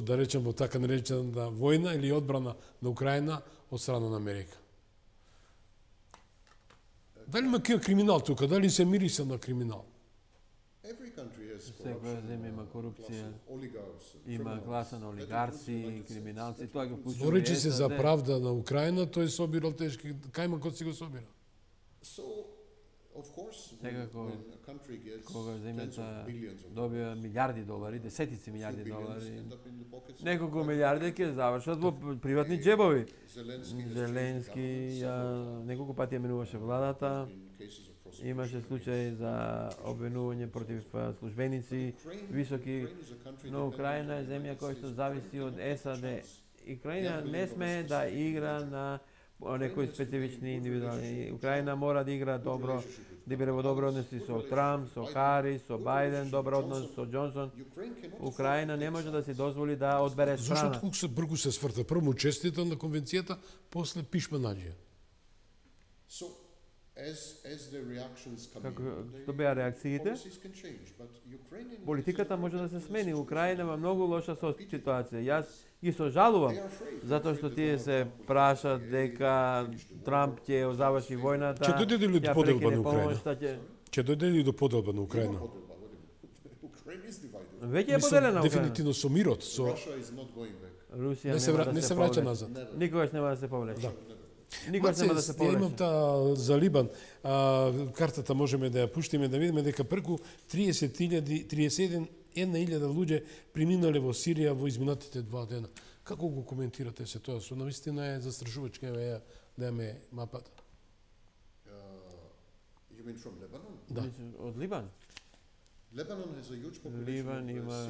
да речем, во така наречена војна или одбрана на Украина од страна на Америка. Дали има криминал тука? Дали се мириса на криминал? Секоја земја има корупција, има класа на олигарци, криминалци, тоа го вклучува. Зборечи се за правда на Украина, тој собирал тешки, кајма код си го собира? Секако, кога земјата добива милиарди долари, десетици милиарди долари, неколку милиарди ќе завршат во приватни џебови. Зеленски неколку пати ја менуваше владата, имаше случаи за обвинување против службеници, високи, но Украина е земја која што зависи од САД. Украина не смее да игра на некои специфични индивидуални. Украина мора да игра добро, да биде во добро односи со Трамп, со Харис, со Бајден, добро однос со Џонсон. Украина не може да си дозволи да одбере страна. Зошто толку се бргу се сврта? Прво честита на конвенцијата, после пишма наđe. Како што беа реакциите, политиката може да се смени. Украина има многу лоша ситуација. Јас ги сожалувам, затоа што тие се прашаат дека Трамп ќе заврши војната. Ќе дојде ли до поделба на Украина? Ќе дојде ли до поделба на Украина? Веќе е поделена Украина. Дефинитивно со мирот, со Русија не се враќа назад. Никогаш нема да се повлече. Никогаш нема да се повлече. Имам таа за Либан. Картата можеме да ја пуштиме да видиме дека преку 31.000 луѓе преминале во Сирија во изминатите 2 дена. Како го коментирате се тоа? Со навистина е застрашувачка, еве да ме мапата. Да. Од Либан? Ливан има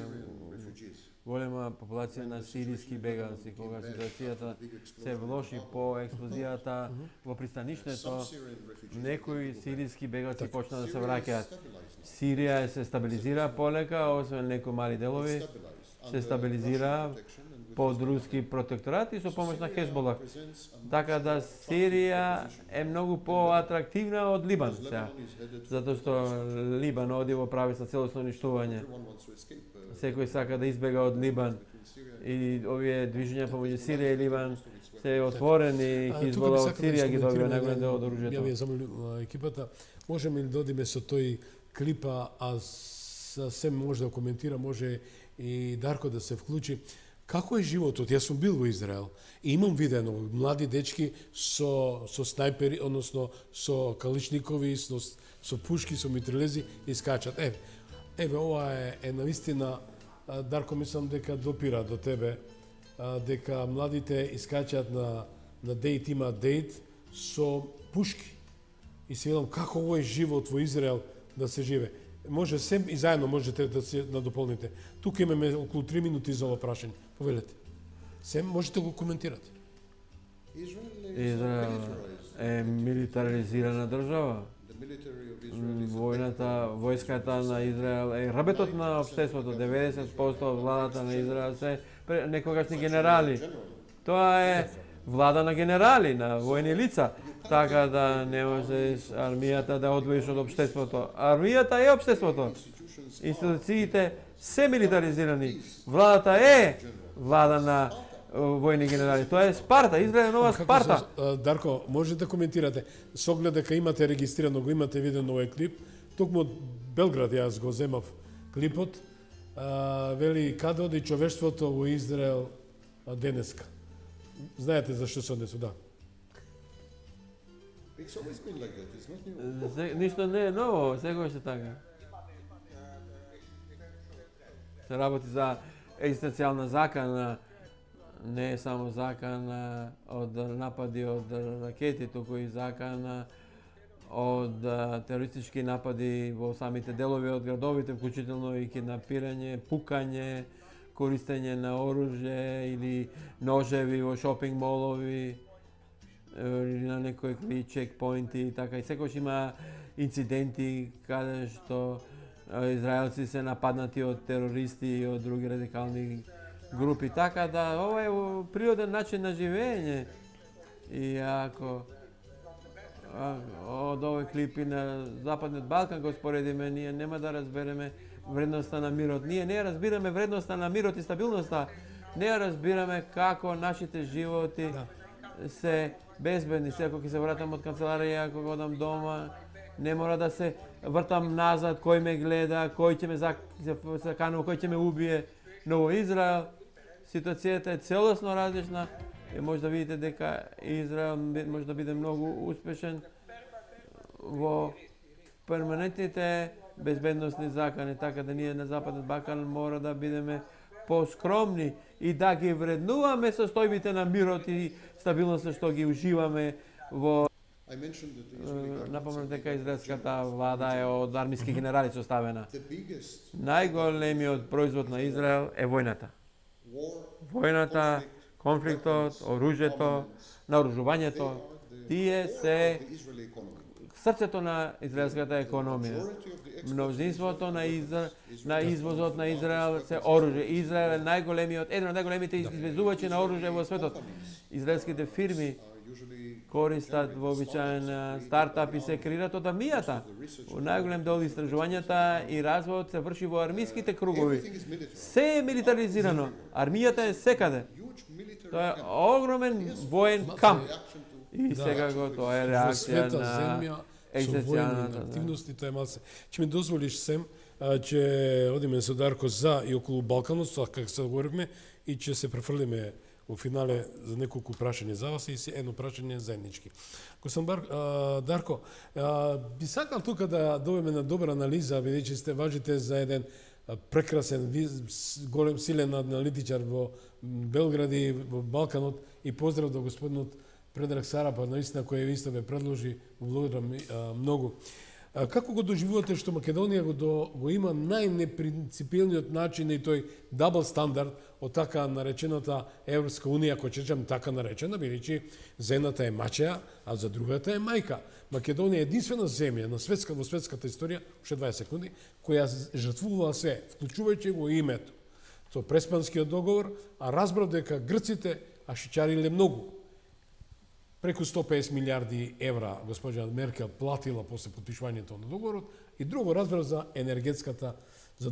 голема популација на сиријски бегалци. Кога ситуацијата се влоши по експлозијата во пристанишното, некои сиријски бегалци почна да се враќаат. Сирија се стабилизира полека, освен некои мали делови, се стабилизира под руски протекторат и со помош на Хезболах. Така да Сирија е многу поатрактивна од Либан сега. Затоа што Либан оди во правица целосно уништување. Секој сака да избега од Либан. И овие движења помеѓу Сирија и Либан се отворени, Хезбола од Сирија ги добива најголем дел од оружјето. Ја ви замолам екипата, можеме ли да одиме со тој клипа, а сем може да коментира, може и Дарко да се вклучи. Како е животот? Јас сум бил во Израел и имам видено млади дечки со снајпери, односно со каличникови, со пушки, со митрелези и скачат. Еве ова е навистина, Дарко, мислам дека допира до тебе, дека младите искачат на дејт, има дејт со пушки. И се видам како овој живот во Израел да се живе. Може сем и заедно можете да се надополните. Тука имаме околу 3 минути за ова прашање. Повелете. Сем можете го коментирате. Израел е милитаризирана држава. Војската на Израел е рабетот на општеството. 90% од владата на Израел се некогашни генерали. Тоа е влада на генерали, на војни лица. Така да не можеш армијата да одвоиш од општеството. Армијата е општеството. Институциите се милитаризирани. Владата е влада на војни генерали. Тоа е Спарта, Израел е нова Спарта. Дарко, можете да коментирате. Со оглед дека имате регистрирано, го имате виден овој клип. Токму од Белград јас го земав клипот. Вели каде оди човештвото во Израел денеска. Знаете зашто се однесу, да. Ништо не е ново, секогаш е така. се работи за екзистенцијална закана, не е само закана од напади од ракети, туку и закана од терористички напади во самите делови од градовите, вклучително и киднапирање, пукање, користење на оружје или ножеви во шопинг молови или на некои чекпоинти и така. И секогаш има инциденти каде што израелци се нападнати од терористи и од други радикални групи. Така да ова е природен начин на живење. И ако од овој клипи на Западниот Балкан го споредиме, ние нема да разбереме вредноста на мирот. Ние не разбираме вредноста на мирот и стабилноста. Не разбираме како нашите животи се безбедни. Се ако ќе се вратам од канцеларија, ако го одам дома, не мора да се вртам назад, кој ме гледа, кој ќе ме заканува, кој ќе ме убие. Но во Израел ситуацијата е целосно различна и може да видите дека Израел може да биде многу успешен во перманентните безбедносни закани, така да ние на Западен Балкан мора да бидеме поскромни и да ги вреднуваме состојбите на мирот и стабилноста што ги уживаме во. Напомнам дека израелската влада е од армиски генерали составена. Најголемиот производ на Израел е војната. Војната, конфликтот, оружјето, наоружувањето, тие се срцето на израелската економија. Мнозинството на извозот на Израел се оружје. Израел е еден од најголемите извезувачи на оружје во светот. Израелските фирми користат вообичаен стартап и се креираат од армијата. Најголем дел истражувањата и развојот се врши во армиските кругови. Се е милитаризирано. Армијата е секаде. Тоа е огромен воен камп. И сега го тоа е реакција на екзистенцијалната активности, тоа е малце. Ќе ми дозволиш сем, ќе одиме со Дарко за и околу Балканот, како се говоривме, и ќе се префрлиме во финале за неколку прашања за вас и едно прашање заеднички. Дарко, би сакал тука да добиеме на добра анализа, бидејќи сте важите за еден прекрасен, голем, силен аналитичар во Белград и во Балканот, и поздрав до господинот Предраг Сарапа, наистина кој исто ве предложи, го благодарам многу. Како го доживувате што Македонија го има најнепринципилниот начин и тој дабл стандард од така наречената Европска унија, кој речем така наречена, бидејќи за едната е мачеа, а за другата е мајка. Македонија е единствена земја во светската историја, уште 20 секунди, која жртвувала се, вклучувајќи го името. Тоа Преспанскиот договор, а разбрав дека грците ашичариле многу. Преку 150 милиарди евра госпоѓа Меркел платила после потпишувањето на договорот и друго разбрав за енергетската за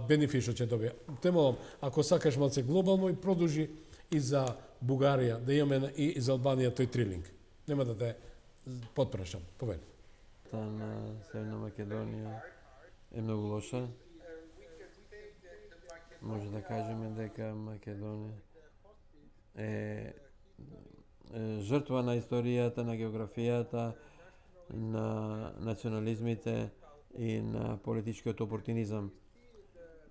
бенефит што ќе добија. Темолам, ако сакаш малце глобално и продолжи и за Бугарија, да имаме и за Албанија тој трилинг. Нема да те потпрашам. Повели. На Северна Македонија е многу лоша. Може да кажеме дека Македонија е жртва на историјата, на географијата, на национализмите и на политичкиот опортунизам.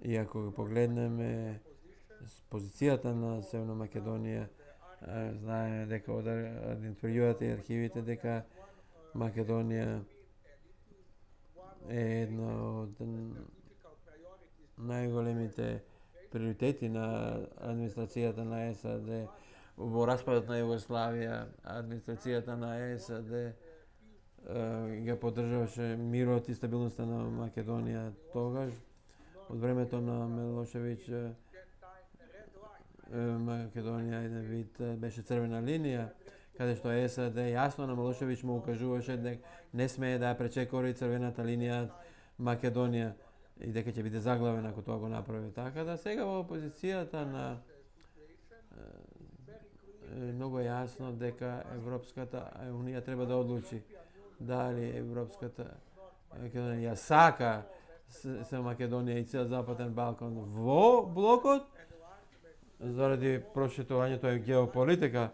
И ако го погледнеме позицијата на Северна Македонија, знаеме дека од интервјуата и архивите дека Македонија е една од најголемите приоритети на администрацијата на САД. Во распадот на Југославија, администрацијата на САД ја поддржуваше мирот и стабилноста на Македонија тогаш. Од времето на Милошевиќ Македонија еден вид беше црвена линија, каде што САД јасно на Милошевиќ му укажуваше дека не смее да ја пречекори црвената линија Македонија и дека ќе биде заглавен ако тоа го направи. Така да сега во опозицијата на многу јасно дека Европската унија треба да одлучи дали Европската Македонија сака се Македонија и цел Западен Балкан во блокот заради проширувањето е геополитика.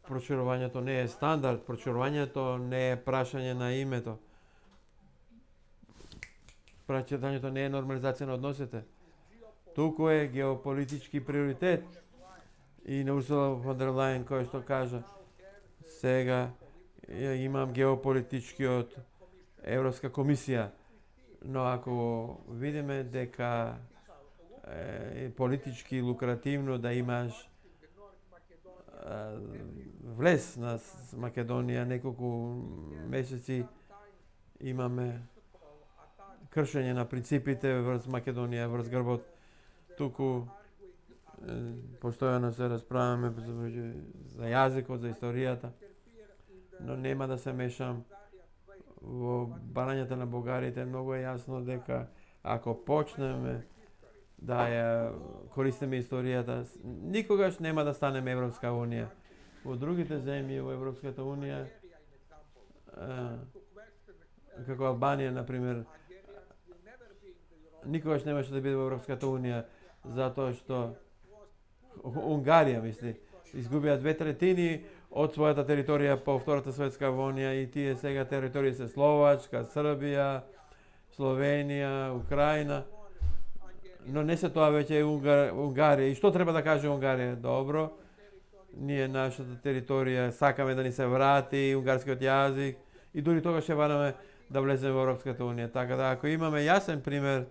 Проширувањето не е стандард, проширувањето не е прашање на името. Проширувањето не е нормализација на односите. туку е геополитички приоритет. И на Урсула фон дер Лајен кој што кажа сега имам геополитичкиот Европска комисија, но ако видиме дека е политички лукративно да имаш влез на Македонија, неколку месеци имаме кршење на принципите врз Македонија, врз грбот, туку постојано се расправаме за јазикот, за историјата, но нема да се мешам во барањата на бугарите. Многу е јасно дека ако почнеме да ја користиме историјата, никогаш нема да станеме Европска унија. Во другите земји во Европската унија, како Албанија, например, никогаш немаше да биде во Европската унија, затоа што Унгарија, мисли, изгубија 2/3 од својата територија по Втората светска војна и тие сега територии се Словачка, Србија, Словенија, Украина. Но не се тоа веќе Унгарија. И што треба да каже Унгарија? Добро, ние нашата територија сакаме да ни се врати унгарскиот јазик и дури тогаш ќе бараме да влеземе во Европската унија. Така да ако имаме јасен пример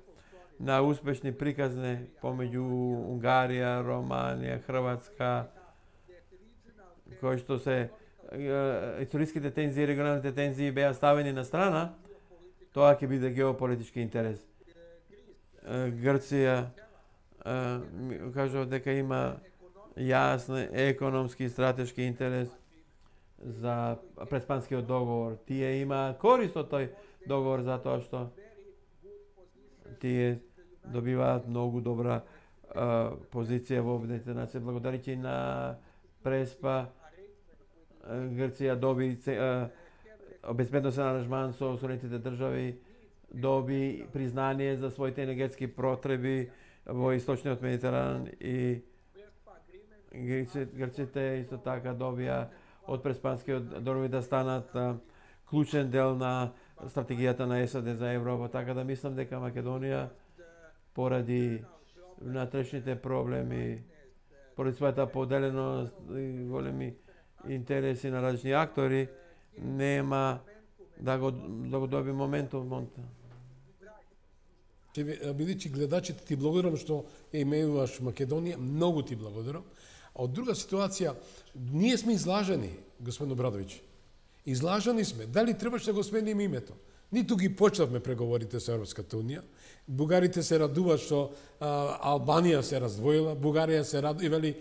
на успешни приказни помеѓу Унгарија, Романија, Хрватска, кои што се историските тензии, регионалните тензии беа ставени на страна, тоа ќе биде геополитички интерес. Грција кажува дека има јасен економски и стратешки интерес за преспанскиот договор. Тие има корист од тој договор затоа што тие добиваат многу добра позиција во Обединетите нации. Благодарејќи на Преспа, Грција доби безбедносен аранжман со Соединетите држави, доби признание за своите енергетски потреби во источниот Медитеран и Грците исто така добија од преспанскиот договор да станат клучен дел на стратегијата на САД за Европа, така да мислам дека Македонија поради внатрешните проблеми, поради својата поделеност и големи интереси на различни актори, нема да го доби моментум. Бидејќи гледачите ти благодарам што ја имеуваш Македонија, многу ти благодарам. А од друга ситуација, ние сме излажени, господин Обрадовиќ. Излажани сме. Дали требаше да го смениме името? Ниту ги почнавме преговорите со Европската унија. Бугарите се радуваат што Албанија се раздвоила, Бугарија се радува и вели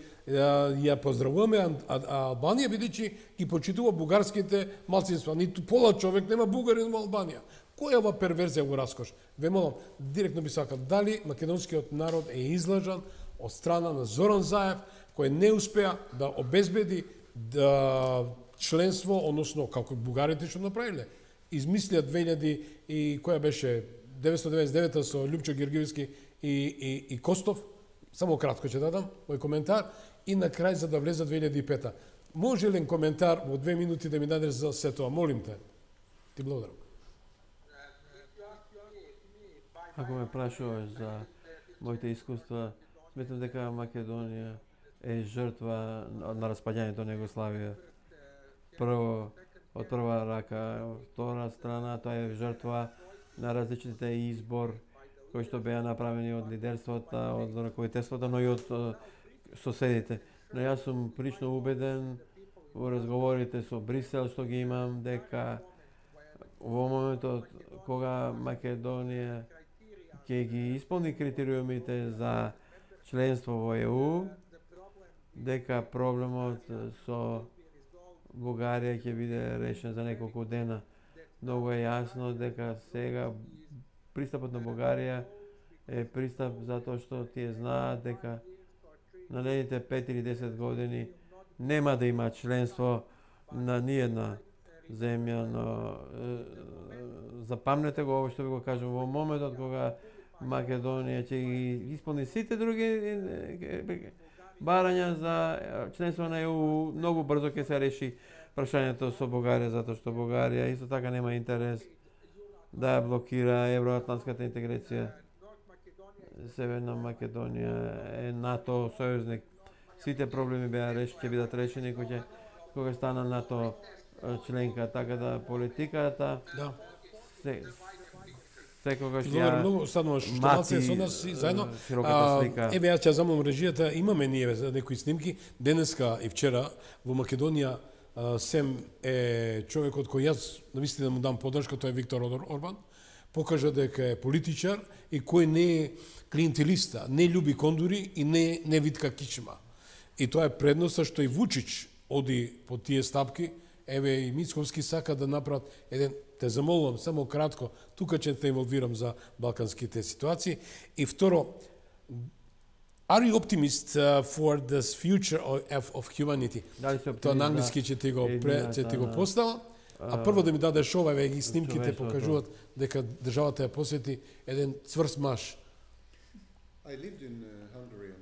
ја поздравуваме Албанија бидејќи ги почитува бугарските малцинства. Ниту пола човек нема бугарин во Албанија. Која е ова перверзија во раскош? Ве молам, директно би сакал, дали македонскиот народ е излажан од страна на Зоран Заев, кој не успеа да обезбеди членство, односно како бугарите што направиле. Измислија 2000 и која беше 999 со Љупчо Георгиевски и Костов. Само кратко ќе дадам мој коментар и на крај за да влезе 2005. Може ли коментар во 2 минути да ми дадеш за се тоа? Молим те. Ти благодарам. Ако ме прашуваш за моите искуства, сметам дека Македонија е жртва на распаѓањето на Југославија. Прво, од прва рака, од втора страна, тоа е жртва на различните избор кои што беа направени од лидерството, од раководителството, но и од соседите. Но јас сум прилично убеден во разговорите со Брисел што ги имам дека во моментот кога Македонија ќе ги исполни критериумите за членство во ЕУ, дека проблемот со Бугарија ќе биде решен за неколку дена. Многу е јасно дека сега пристапот на Бугарија е пристап затоа што тие знаат дека на наредните 5 или 10 години нема да има членство на ниедна земја, но запамнете го ово што ви го кажам, во моментот кога Македонија ќе ги исполни сите други барања за членство на ЕУ, многу брзо ќе се реши прашањето со Бугарија, затоа што Бугарија исто така нема интерес да блокира евроатлантската интеграција. Северна Македонија е НАТО сојузник. Сите проблеми ќе бидат решени кога стана НАТО членка, така да политиката секогаш ја многу стануваш што малце со нас и заедно. Еве јас ќе замолам режијата, имаме ние некои снимки денеска и вчера во Македонија. Сем е човекот кој јас навистина му дам поддршка, тоа е Виктор Орбан. Покажа дека е политичар и кој не е клиентелиста, не љуби кондури и не витка кичма. И тоа е предноста што и Вучич оди по тие стапки. Еве и Мицковски сака да направат еден, те замолувам само кратко, тука ќе те инволвирам за балканските ситуации. И второ, are you optimist for the future of humanity? Тоа на англиски ќе ти го поставам. А прво да ми дадеш ова, ги снимките покажуваат дека државата ја посвети еден цврст маж.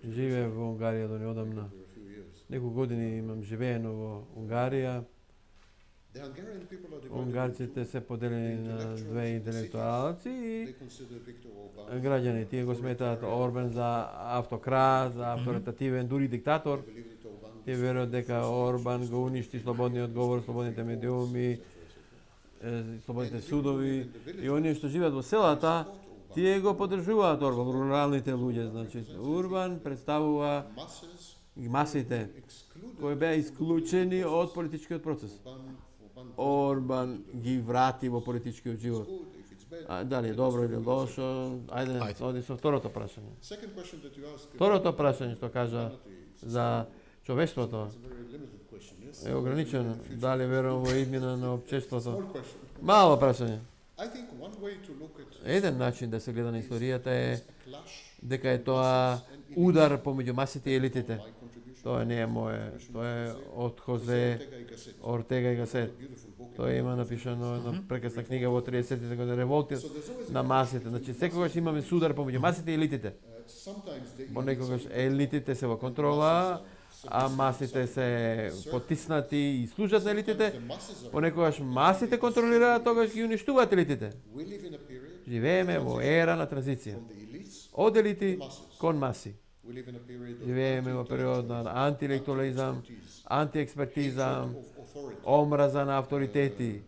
Живеев во Унгарија до неодамна. Неколку години имам живеено во Унгарија. Унгарците се поделени на две интелектуалци и граѓани. Тие го сметаат Орбан за автократ, за авторитативен, дури диктатор. Тие веруваат дека Орбан го уништи слободниот говор, слободните медиуми, слободните судови. И оние што живеат во селата, тие го поддржуваат Орбан, руралните луѓе. Значи, Орбан представува масите кои беа исклучени од политичкиот процес. Орбан ги врати во политичкиот живот. Дали е добро или лошо? Ајде, оди со второто прашање. Второто прашање што кажа за човештвото е ограничено. Дали верувам во иднина на општеството? Мало прашање. Еден начин да се гледа на историјата е дека е тоа удар помеѓу масите и елитите. Тоа не е мое, тоа е од Хозе Ортега и Гасет. Тоа има напишано една прекрасна книга во 30-тите години, Револтир на масите. Значи секогаш имаме судар помеѓу масите и елитите. Понекогаш елитите се во контрола, а масите се потиснати и служат на елитите. Понекогаш масите контролираат, тогаш ги уништуваат елитите. Живееме во ера на транзиција. Од елити кон маси. Живееме во период на антиинтелектуализам, антиекспертизам, омраза на авторитети,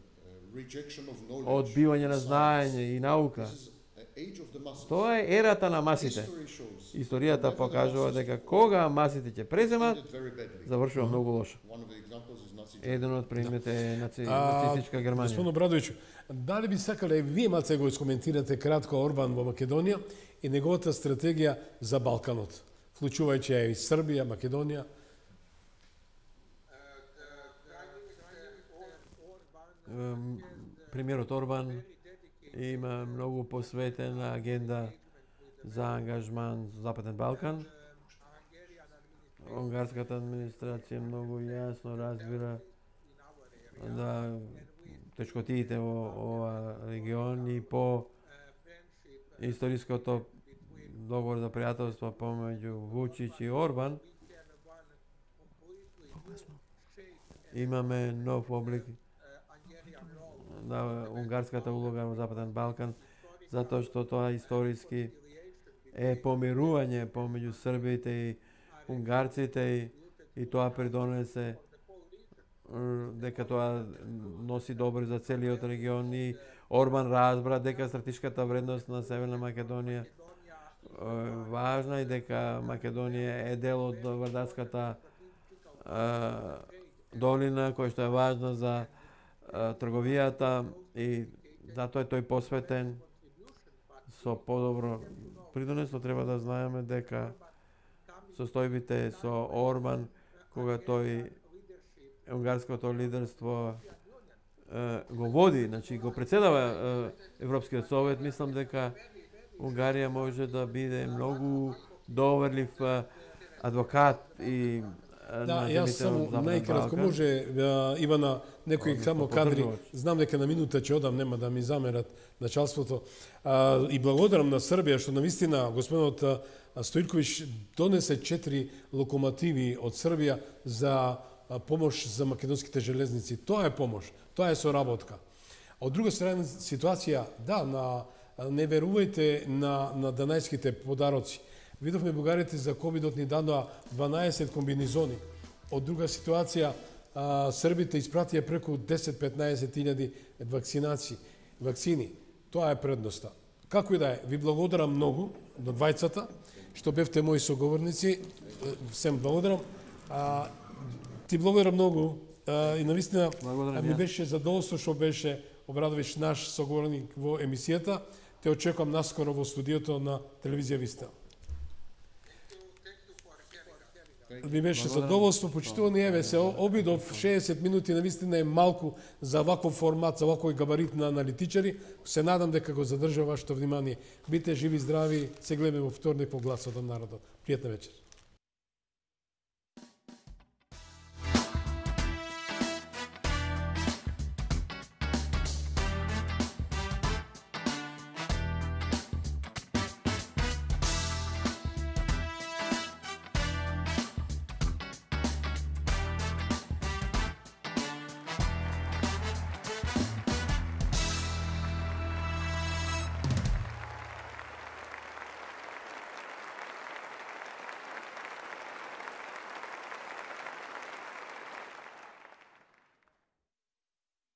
одбивање на знаење и наука. Тоа е ерата на масите. Историјата покажува дека кога масите ќе преземат, завршува многу лошо. Еден од примерите е нацистичка Германија. Господин Обрадовиќ, дали би сакале вие малце го искоментирате кратко Орбан во Македонија и неговата стратегија за Балканот, вклучувајќи и Србија, Македонија? Премиерот Орбан има многу посветена агенда за ангажман за Западен Балкан. Унгарската администрација многу јасно разбира да тешкотиите во ова регион и по историското договор за пријателство помеѓу Вучич и Орбан. Имаме нов облик на унгарската улога во Западен Балкан, затоа што тоа историски е помирување помеѓу србите и унгарците и тоа придонесе дека тоа носи добро за целиот регион и Орбан разбра дека стратешката вредност на Северна Македонија важна и дека Македонија е дел од Вардарската долина која што е важна за трговијата и затоа е тој посветен со подобро придонество. Треба да знаеме дека состојбите со Орбан, кога тој унгарското лидерство го води, значи го председава Европскиот совет, мислам дека Унгарија може да биде многу доверлив адвокат и да, јас само најкратко може Ивана некои само кадри, знам дека на минута ќе одам, нема да ми замерат началството. И благодарам на Србија што навистина господинот Стојковиќ донесе 4 локомотиви од Србија за помош за македонските железници. Тоа е помош, тоа е соработка. Од друга страна ситуација, да, на Не верувајте на данајските подароци. Видовме бугарите за ковидот ни дадоа 12 комбинизони. Од друга ситуација, србите испратија преку 10-15 илјади вакцини. Тоа е предноста. Како и да е, ви благодарам многу до двајцата, што бевте мои соговорници. Сем благодарам. Ти благодарам многу и навистина ми беше задоволство што беше Обрадович наш соговорник во емисијата. Те очекувам наскоро во студиото на телевизија Вистел. Ми беше задоволство, почитувани, еве се обидов 60 минути, навистина е малку за ваков формат, за вакој габарит на аналитичари. Се надам дека го задржа вашето внимание. Бите живи, здрави, се гледаме во вторник во Гласот на народот. Пријатна вечер.